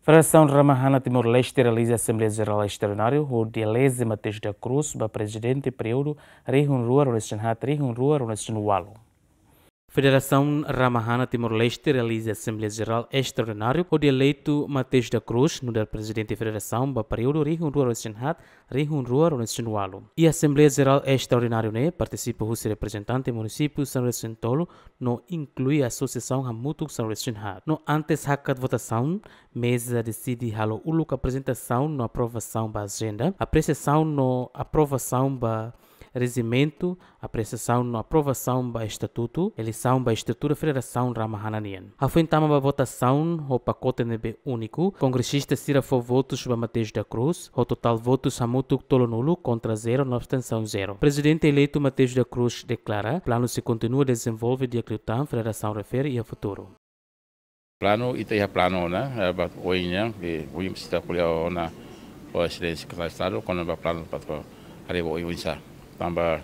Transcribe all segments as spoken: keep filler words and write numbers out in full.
Federasaun Ramahana Timor-Leste realiza Asembleia Jerál Estraordinária hodi eleze Mateus da Cruz ba Prezidente períodu rihun rua ruanulu-resin-haat, rihun rua ruanulu-resin-ualu. Federasaun Ramahana Timor-Leste realiza Asembleia Jerál Estraordinária hodi eleitu Mateus da Cruz nu'udar Prezidente Federasaun ba períodu rihun rua ruanulu-resin-haat, rihun rua ruanulu-resin-ualu. Iha Asembleia Jerál Estraordinária ne'e partisipa husi reprezentante munisípiu sanulu-resin-tolu no inklui asosiasaun hamutuk sanulu-resin-haat. No antes hakat votasaun, meza deside halo uluk aprezentasaun no aprovasaun ba ajenda, apresiasaun no aprovasaun ba rejimentu, apresiasaun no aprovasaun ba estatutu, eleisaun ba estrutura Federasaun Ramahana nian. Hafoin tama ba votasaun ho pakote ne'ebé úniku, kongresista sira fó votus ba Mateus da Cruz, ho totál votus hamutuk tolunulu, kontra zero no abstensaun zero. Prezidente eleitu Mateus da Cruz deklara, planu sei kontinua dezenvolve di'ak liután federasaun refere iha futuru. Planu, ita iha planu ona, eh, ba oin nian, eh, oin ita ko'alia ona ho Exelénsia Sekretáriu Estadu, kona-ba planu para atu haree ba oin oinsá. Tanba,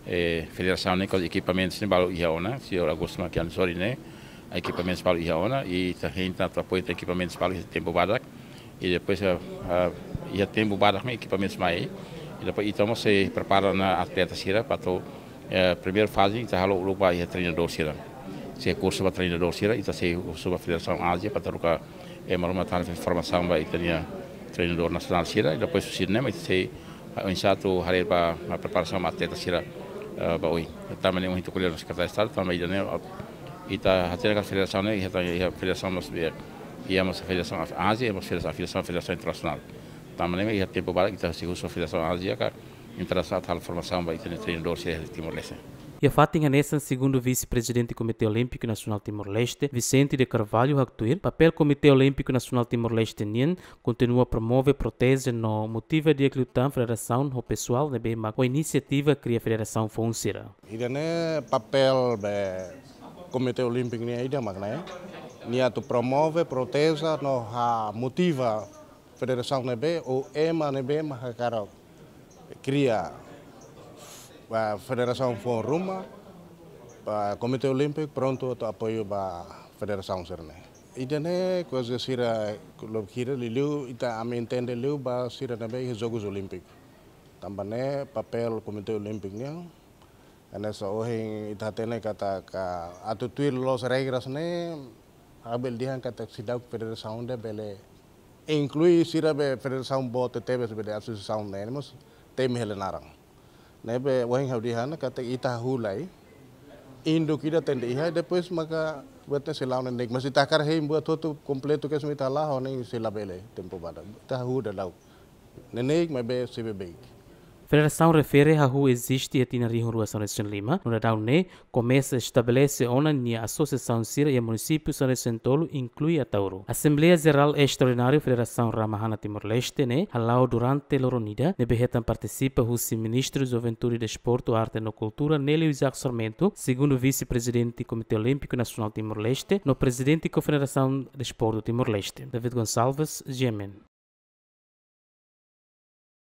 eh, federasaun ne'e ho ekipamentus ne'e balu iha ona, señór Augusto Makian Sori ne'e, ekipamentus balu iha ona, i ita hein atu apoiu ita ekipamentus balu iha tempu badak, i depois, eh, eh, iha tempu badak ne'e ekipamentus mai, i depois ita mós sei prepara ona atleta sira para atu, eh, primeira faze, ita halo uluk ba iha treinadór sira. Sei kursu ba treinadór sira, ita sei husu ba Federasaun Ázia, para troka, eh, malu-malu tana formasaun ba ita-nia treinadór nasionál sira, i depois husi ne'e mak ita sei, ah, oinsá atu haree ba, ba preparasaun ba atleta sira, eh, ba oin. Tanba ne'e ohin ita ko'alia ho Sekretáriu Estadu, tanba ida-ne'e, ah, ita hatene katak federasaun ne'e, iha, iha federasaun mós, iha, iha mós federasaun Ázia, iha mós federasaun, federasaun, federasaun internasionál. Tanba ne'e iha tempu badak ita sei husu Federasaun Ázia ka internasionál atu halo formasaun ba ita-nia treinadór sira iha Timor-Leste. Iha fatin hanesan, segundu Vise-Prezidente Komité Olímpiku Nasionál Timor-Leste, Vicente de Carvalho, haktuir, papél Komité Olímpiku Nasionál Timor-Leste nian kontinua promove, proteje no motiva di'ak liután federasaun ho pesoál ne'ebé mak ho inisiativa kria federasaun foun sira. Ida-ne'e papél ba Komité Olímpiku nian ida mak ne'e. Nia atu promove, proteje no ha motiva federasaun ne'ebé, ou ema ne'ebé mak hakarak kria, ah, federasaun foun ruma, ah, Komité Olímpiku prontu atu apoiu ba federasaun sira-ne'e. Ida-ne'e kuaze sira lobkira liuliu ita ami entende liu ba sira ne'ebé iha Jogus Olímpiku. Tanba ne'e papél Komité Olímpiku nian, hanesan ohin ita hatene katak atu tuir loos regras ne'e, ha'u bele dehan katak seidauk federasaun ida bele inklui sira be federasaun boot tebes be de asosiasaun ne'e mós temi hela naran. Ne'ebé ohin ha'u dehan katak ita hahú lai, induk ida tenke iha, depois maka buat ne'e sei la'o neineik. Mas ita hakarak hein buat hotu kompletu kedas mak ita la'o ne'e sei labele tempu badak. Ita hahú daudaun. Neineik maibé sei beibeik. Federasaun refere hahú eziste iha tinan rihun rua sanulu-resin-lima, no daudaun ne'e komesa estabelese ona nia asosiasaun sira iha munisípiu sanulu-resin-tolu, inklui Ataúro. Asembleia Jerál Estraordinária Federasaun Ramahana Timor-Leste ne'e hala'o durante loron ida, ne'ebé hetan partisipa husi Ministru Juventude, Desportu, Arte no Kultura, Nélio Isaac Sarmento, segundu Vise-Prezidente Komité Olímpiku Nasionál Timor-Leste, no Prezidente Konfederasaun Desportu Timor-Leste, David Gonçalves, G M N.